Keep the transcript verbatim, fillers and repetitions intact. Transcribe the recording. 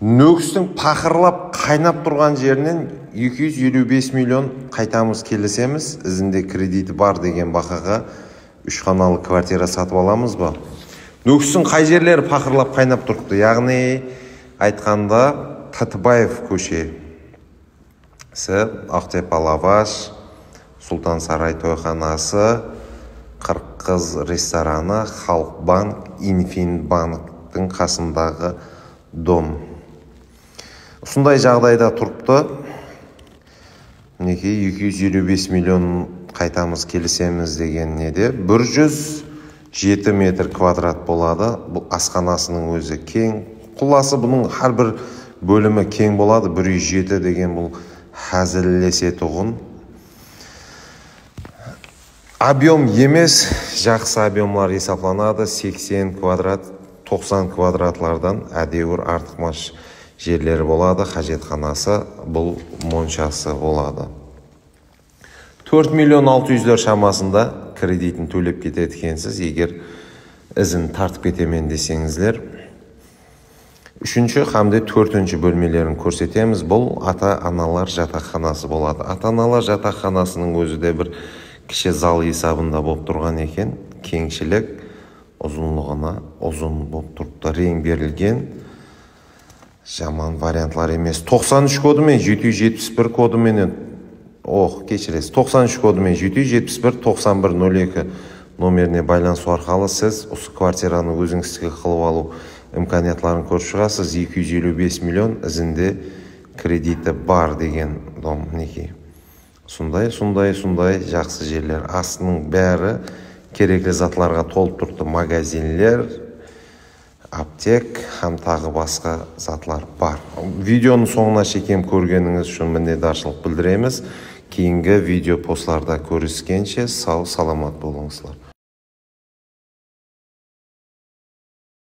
Нөкістің пақырлап қайнап тұрған жерінен екі жүз елу бес миллион қайтамыз келісеміз. Ізінде кредиті бар деген бақаға үш қаналы квартира сатып аламыз ба? Нөкістің қай жерлері пақырлап қайнап тұрыпты? Яғни айтқанда Татыбаев көшесі, Ақтепа лаваш, Сұлтан Сарай тойханасы, Қырқыз рестораны, Халық банк, Инфинбанктің қасындағы дом. Осындай жағдайда тұрыпты. Мінекей екі жүз елу бес миллион қайтамыз келісеміз деген неде бір жүз жеті метр квадрат болады. Бұл асханасының өзі кең. Құласы бұның har бір бөлімі кең болады. бір жүз жеті деген бұл хәзірлесе тұғын. Объем емес, жақсы объемлар есапланады. сексен квадрат, тоқсан квадратлардан әдеуір артықмаш жерлері болады. Қажетханасы, бұл моншасы болады. төрт миллион алты жүздер шамасында кредитін төлеп кетеді екенсіз, егер ізін тартып кетемен десеңіздер. Үшінші хамде төртінші бөлмелерін көрсетеміз. Бұл ата-аналар жатақханасы болады. Ата-аналар жатақханасының өзі де бір кіші зал есабында болып тұрған екен. Кеңшілік ұзынлығына ұзын болып тұрыпты. Рең берілген. Жаман вариантлар емес. тоқсан үш кодымен жеті жүз жетпіс бір кодымен Ох, кешіресіз. тоқсан үш кодымен жеті жүз жетпіс бір тоқсан бір нөл екі номеріне байланысу арқылы сіз осы квартираны өзіңізге қылып алу имканиятларын көріп шығасыз. екі жүз елу бес миллион ізінде кредиті бар деген дом. Неке. Сондай, сондай, сондай жақсы жерлер. Астының бәрі керекті затларға толып тұрды. Магазинлер, аптек, һәм тағы басқа затлар бар. Видеоның соңына шекем көргеніңіз үшін міннедаршылық білдіреміз. Кейінгі видео постларда көріскенше сау саламат болыңыздар.